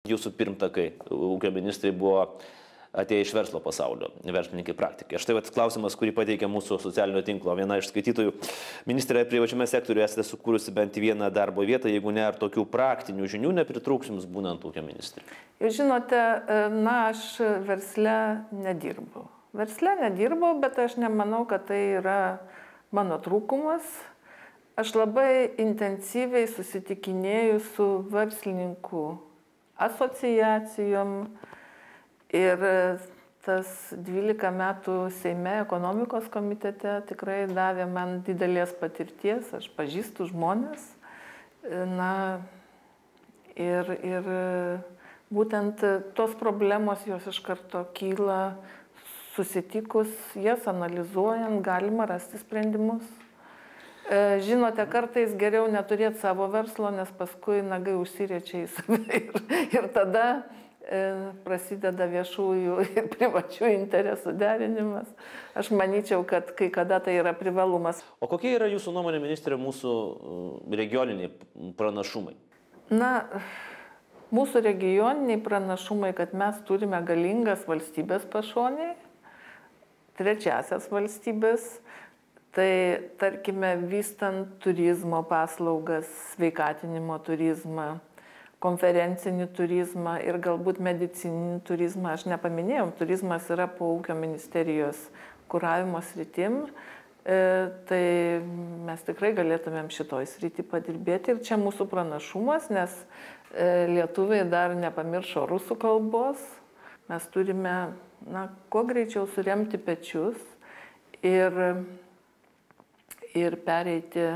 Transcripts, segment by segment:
jūsų pirmtakai, ūkio ministrai buvo atėję iš verslo pasaulio, verslininkai praktikai. Štai klausimas, kurį pateikė mūsų socialinio tinklo viena iš skaitytojų. Ministrė, privačiame sektoriuje esate sukūrusi bent vieną darbo vietą, jeigu ne, ar tokių praktinių žinių nepritrūks jums būnant ūkio ministrė? Jūs žinote, aš versle nedirbau. Bet aš nemanau, kad tai yra mano trūkumas. Aš labai intensyviai susitikinėju su verslininkų asociacijom. Ir tas 12 metų Seime ekonomikos komitete tikrai davė man didelės patirties, aš pažįstu žmonės. Ir būtent tos problemos jos iš karto kyla, susitikus, jas analizuojant, galima rasti sprendimus. Žinote, kartais geriau neturėti savo verslo, nes paskui nagai užsiriečia į save ir tada prasideda viešųjų ir privačių interesų derinimas. Aš manyčiau, kad kai kada tai yra privalumas. O kokie yra jūsų nuomonė, ministrė, mūsų regioniniai pranašumai? Mūsų regioniniai pranašumai, kad mes turime galingas valstybės pašonėje, trečiasias valstybės, tai tarkime vystant turizmo paslaugas, sveikatinimo turizmą, konferencinį turizmą ir galbūt medicininį turizmą. Aš nepaminėjau, turizmas yra po ūkio ministerijos kuravimo sritim, tai mes tikrai galėtumėm šitoj srity padirbėti ir čia mūsų pranašumas, nes lietuviai dar nepamiršo rusų kalbos. Mes turime, kuo greičiau suremti pečius ir pereiti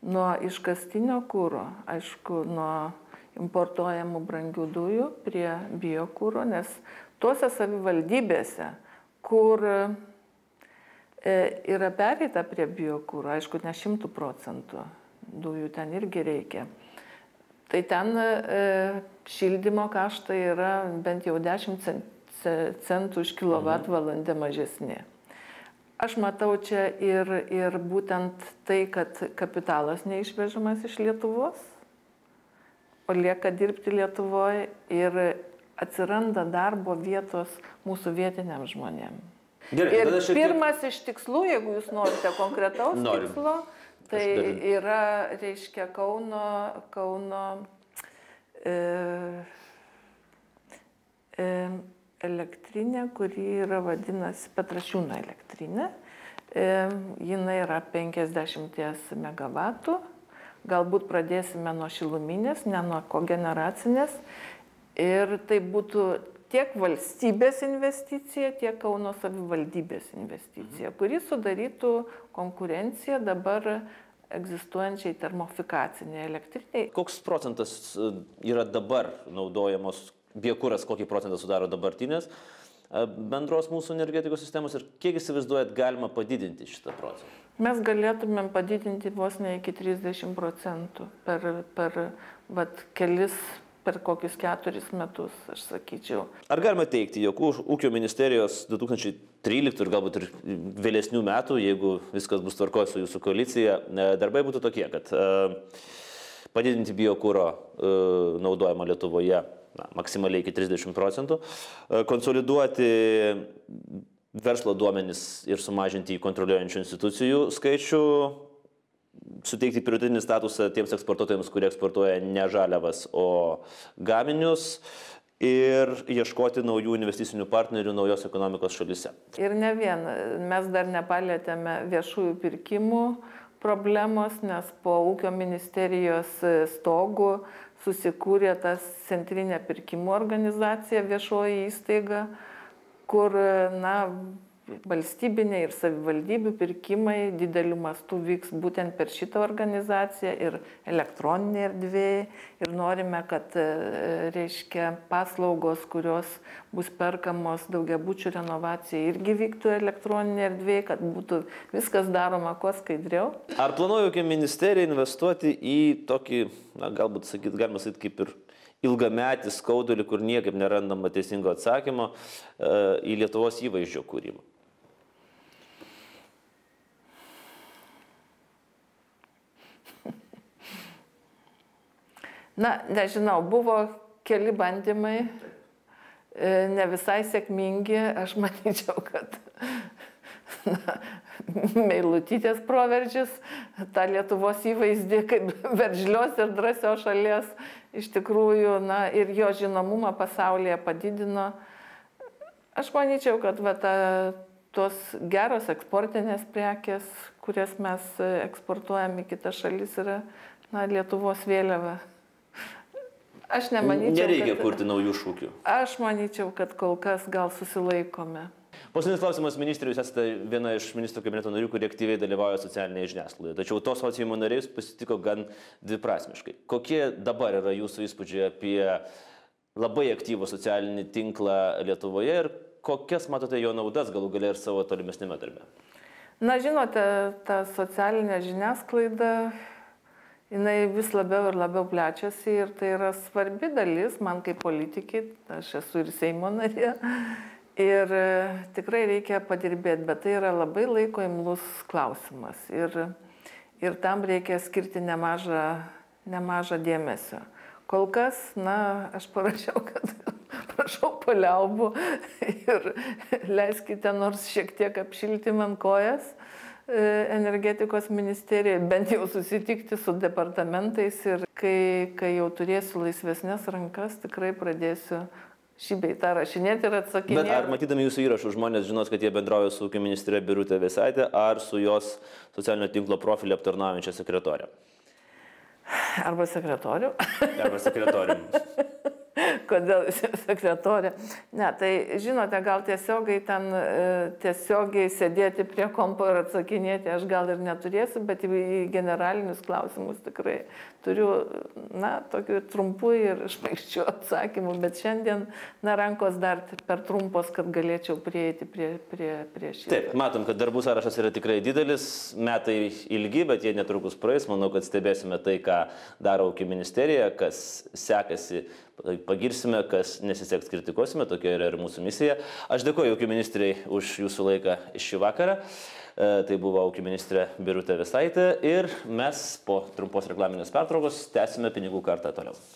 nuo iškastinio kuro, aišku, nuo importuojamų brangių dujų prie biokuro, nes tuose savivaldybėse, kur yra pereita prie biokuro, aišku, ne 100% dujų ten irgi reikia, tai ten šildymo kaštai yra bent jau 10 centų už kilovatvalandę mažesni. Aš matau čia ir būtent tai, kad kapitalas neišvežamas iš Lietuvos, o lieka dirbti Lietuvoje ir atsiranda darbo vietos mūsų vietiniams žmonėms. Ir pirmas iš tikslų, jeigu jūs norite konkretaus tikslo, tai yra, reiškia, Kauno elektrinė, kuri yra vadinasi Petrašiūno elektrinė. Jinai yra 50 megavatų. Galbūt pradėsime nuo šiluminės, ne nuo kogeneracinės. Ir tai būtų tiek valstybės investicija, tiek Kauno savivaldybės investicija, kuri sudarytų konkurenciją dabar egzistuojančiai termofikaciniai elektriniai. Koks procentas yra dabar naudojamos biokuras, kokį procentą sudaro dabartinės bendros mūsų energetikos sistemos ir kiek įsivaizduojat galima padidinti šitą procentą? Mes galėtumėm padidinti vos ne iki 30% per kokius 4 metus, aš sakyčiau. Ar galima teikti, jog ūkio ministerijos 2013 ir galbūt ir vėlesnių metų, jeigu viskas bus tvarkoj su jūsų koalicija, darbai būtų tokie, kad padidinti biokuro naudojimą Lietuvoje maksimaliai iki 30%, konsoliduoti verslo duomenis ir sumažinti į kontroliuojančių institucijų skaičių, suteikti prioritetinį statusą tiems eksportuotojams, kurie eksportuoja ne žaliavas, o gaminius ir ieškoti naujų investicinių partnerių naujos ekonomikos šalyse. Ir ne vien, mes dar nepalietėme viešųjų pirkimų problemos, nes po ūkio ministerijos stogų susikūrė tas centrinė pirkimų organizacija, viešoji įstaiga, kur valstybiniai ir savivaldybių pirkimai dideliu mastu vyks būtent per šitą organizaciją ir elektroninė erdvėje. Ir norime, kad reiškia paslaugos, kurios bus perkamos daugiabučių renovacijai, irgi vyktų elektroninė erdvėje, kad būtų viskas daroma kuo skaidriau. Ar planuoja ūkio ministerija investuoti į tokį, galbūt galima sakyti, kaip ir ilgametį skaudulį, kur niekaip nerandama teisingo atsakymo, į Lietuvos įvaizdžio kūrimą? Nežinau, buvo keli bandymai, ne visai sėkmingi, aš manyčiau, kad Meilutytės proveržis, tą Lietuvos įvaizdį kaip veržlios ir drąsios šalies iš tikrųjų, ir jo žinomumą pasaulyje padidino. Aš manyčiau, kad tos geros eksportinės prekės, kurias mes eksportuojam į kitas šalis, yra Lietuvos vėliava. Aš nemanyčiau, nereikia kurti naujų šūkių. Aš manyčiau, kad kol kas gal susilaikome. Paskutinis klausimas, ministrė, jūs esate viena iš ministrų kabineto narių, kurie aktyviai dalyvauja socialinėje žiniasklaidoje. Tačiau tos sociumo nariais pasitiko gan dviprasmiškai. Kokie dabar yra jūsų įspūdžiai apie labai aktyvų socialinį tinklą Lietuvoje ir kokias matote jo naudas galų gale ir savo tolimesnėme darbe? Žinote, ta socialinė žiniasklaida, jinai vis labiau ir labiau plečiasi ir tai yra svarbi dalis man kaip politikai, aš esu ir Seimo narė. Ir tikrai reikia padirbėti, bet tai yra labai laiko imlus klausimas. Ir tam reikia skirti nemažą dėmesio. Kol kas, aš parašiau, kad prašau paliaubų ir leiskite nors šiek tiek apšilti man kojas energetikos ministerijoje, bent jau susitikti su departamentais ir kai jau turėsiu laisvesnės rankas, tikrai pradėsiu šį bei tą rašinėti ir atsakinėti. Bet ar matydami jūsų įrašų žmonės žinos, kad jie bendrauja su ūkio ministre Birute Vėsaite ar su jos socialinio tinklo profilį aptarnaujančia sekretorė? Arba sekretorių. Arba sekretorium. Kodėl sekretorė? Ne, tai žinote, gal tiesiogiai sėdėti prie kompo ir atsakinėti aš gal ir neturėsiu, bet į generalinius klausimus tikrai turiu, tokių trumpų ir šmaikščių atsakymų, bet šiandien, rankos dar per trumpos, kad galėčiau prieiti prie šito. Taip, matom, kad darbų sąrašas yra tikrai didelis, metai ilgi, bet jie netrukus praeis. Manau, kad stebėsime tai, ką daro ūkio ministerija, kas sekasi, pagirsime, kas nesiseks, kritikuosime, tokia yra ir mūsų misija. Aš dėkoju ūkio ministrei už jūsų laiką šį vakarą. Tai buvo ūkio ministrė Birutė Vėsaitė ir mes po trumpos reklaminės pertraukos tęsime pinigų kartą toliau.